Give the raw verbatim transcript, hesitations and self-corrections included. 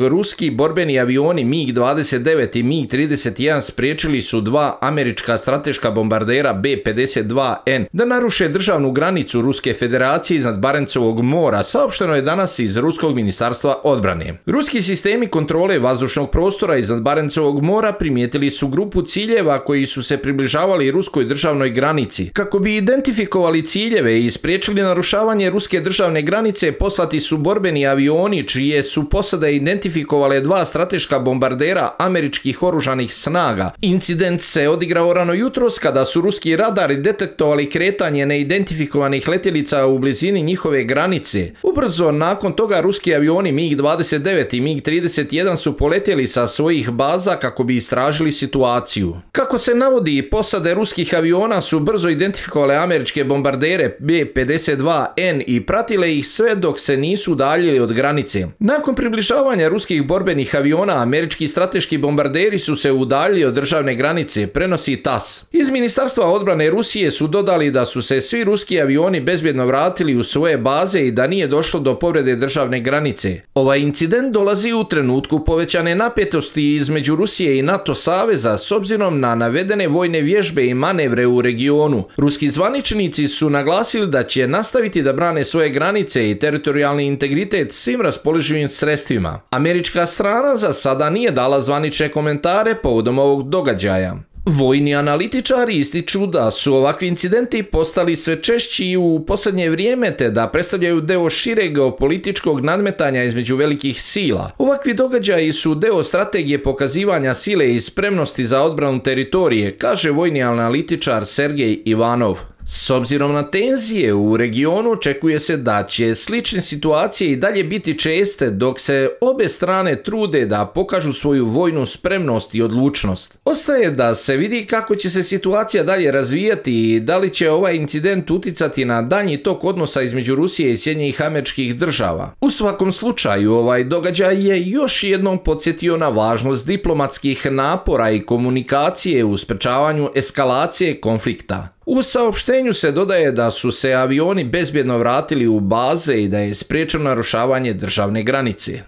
Ruski borbeni avioni mig dvadeset devet i mig trideset jedan spriječili su dva američka strateška bombardera B pedeset dva N da naruše državnu granicu Ruske federacije iznad Barencovog mora, saopšteno je danas iz Ruskog ministarstva odbrane. Ruski sistemi kontrole vazdušnog prostora iznad Barencovog mora primijetili su grupu ciljeva koji su se približavali ruskoj državnoj granici. Kako bi identifikovali ciljeve i spriječili narušavanje ruske državne granice, poslati su borbeni avioni čije su posade identifikovale dva strateška bombardera američkih oružanih snaga. Incident se odigrao rano jutros kada su ruski radari detektovali kretanje neidentifikovanih letjelica u blizini njihove granice. Ubrzo nakon toga ruski avioni mig dvadeset devet i mig trideset jedan su poletjeli sa svojih baza kako bi istražili situaciju. Kako se navodi, posade ruskih aviona su brzo identifikovale američke bombardere B pedeset dva N i pratile ih sve dok se nisu udaljili od granice. Nakon približavanja ruskih borbenih aviona, američki strateški bombarderi su se udaljili od državne granice, prenosi T A S. Iz Ministarstva odbrane Rusije su dodali da su se svi ruski avioni bezbjedno vratili u svoje baze i da nije došlo do povrede državne granice. Ovaj incident dolazi u trenutku povećane napetosti između Rusije i NATO saveza s obzirom na navedene vojne vježbe i manevre u regionu. Ruski zvaničnici su naglasili da će nastaviti da brane svoje granice i teritorijalni integritet svim raspoloživim sredstvima. Američka strana za sada nije dala zvanične komentare povodom ovog događaja. Vojni analitičari ističu da su ovakvi incidenti postali sve češći u posljednje vrijeme te da predstavljaju deo šireg geopolitičkog nadmetanja između velikih sila. Ovakvi događaji su deo strategije pokazivanja sile i spremnosti za odbranu teritorije, kaže vojni analitičar Sergej Ivanov. S obzirom na tenzije u regionu, očekuje se da će slične situacije i dalje biti česte dok se obe strane trude da pokažu svoju vojnu spremnost i odlučnost. Ostaje da se vidi kako će se situacija dalje razvijati i da li će ovaj incident uticati na daljnji tok odnosa između Rusije i Sjedinjenih Američkih Država. U svakom slučaju, ovaj događaj je još jednom podsjetio na važnost diplomatskih napora i komunikacije u sprečavanju eskalacije konflikta. U saopštenju se dodaje da su se avioni bezbjedno vratili u baze i da je spriječeno narušavanje državne granice.